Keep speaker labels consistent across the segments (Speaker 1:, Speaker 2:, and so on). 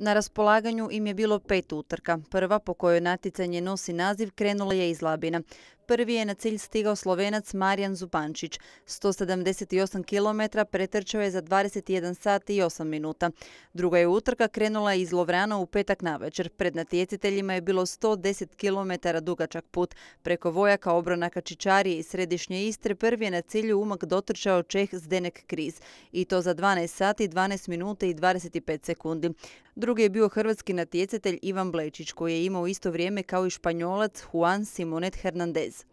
Speaker 1: Na raspolaganju im je bilo 5 utrka. Prva, po kojoj natjecanje nosi naziv, krenula je iz Labina. Prvi je na cilj stigao Slovenac Marijan Zupančić. 178 km pretrčao je za 21 sat i 8 minuta. Druga je utrka krenula iz Lovrana u petak navečer. Pred natjecateljima je bilo 110 km dugačak put. Preko Vojaka, Obronaka, Čičarije i središnje Istre prvi je na cilju Umag dotrčao Čeh Zdenek Kriz. I to za 12 sati, 12 minuta i 25 sekundi. Drugi je bio hrvatski natjecatelj Ivan Blečić, koji je imao isto vrijeme kao i Španjolac Juan Simonet Hernandez.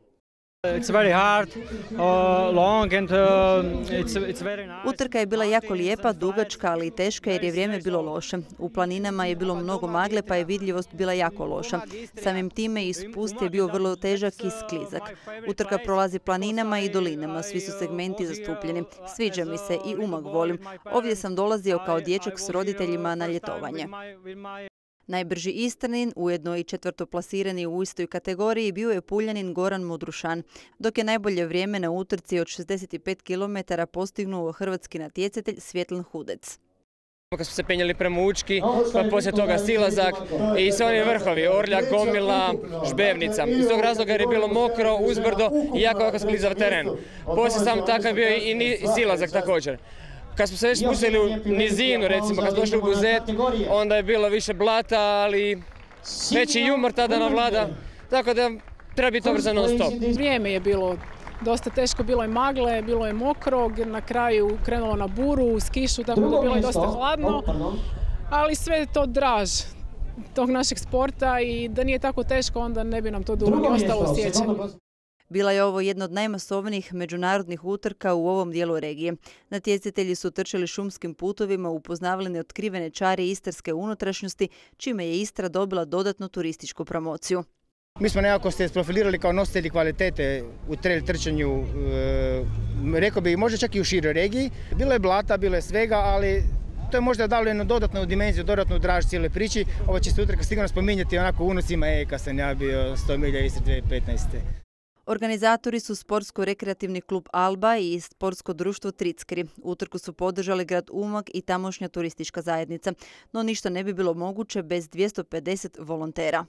Speaker 1: Utrka je bila jako lijepa, dugačka, ali i teška jer je vrijeme bilo loše. U planinama je bilo mnogo magle pa je vidljivost bila jako loša. Samim time i spust je bio vrlo težak i sklizak. Utrka prolazi planinama i dolinama, svi su segmenti zastupljeni. Sviđa mi se i Umag volim. Ovdje sam dolazio kao dječak s roditeljima na ljetovanje. Najbrži Istranin, ujedno i četvrtoplasirani u istoj kategoriji, bio je Puljanin Goran Modrušan, dok je najbolje vrijeme na utrci od 65 km postignuo hrvatski natjecatelj Svjetlin Hudec.
Speaker 2: Kad smo se penjali prema Učki, pa poslije toga Silazak i sve oni vrhovi, Orljak, Gomila, Žbevnica. Iz tog razloga jer je bilo mokro, uzbrdo i jako sklizav teren. Poslije sam takav bio i Silazak također. Kad smo se već spustili u nizinu, recimo, kad smo došli u Buzet, onda je bilo više blata, ali veći jumor tada nam vlada, tako da treba biti obrazan non stop.
Speaker 3: Vrijeme je bilo dosta teško, bilo je magle, bilo je mokro, na kraju krenulo na buru, uz kišu, tako da bilo je dosta hladno, ali sve je to draž tog našeg sporta i da nije tako teško, onda ne bi nam to dugo ni ostalo u sjećanju.
Speaker 1: Bila je ovo jedna od najmasovnijih međunarodnih utrka u ovom dijelu regije. Natjecatelji su trčali šumskim putovima, upoznavali neotkrivene čari istarske unutrašnjosti, čime je Istra dobila dodatnu turističku promociju.
Speaker 4: Mi smo nekako se profilirali kao nositelji kvalitete u trail trčanju, rekao bih možda čak i u široj regiji. Bilo je blata, bilo je svega, ali to je možda dalo jednu dodatnu dimenziju, dodatnu draž cijele priči. Ovo će se utrka sigurno spominjati onako unucima, kad sam ja bio 100 milja Istre 2015.
Speaker 1: Organizatori su Sportsko-rekreativni klub Alba i Sportsko društvo Trickeri. Utrku su podržali grad Umag i tamošnja turistička zajednica, no ništa ne bi bilo moguće bez 250 volontera.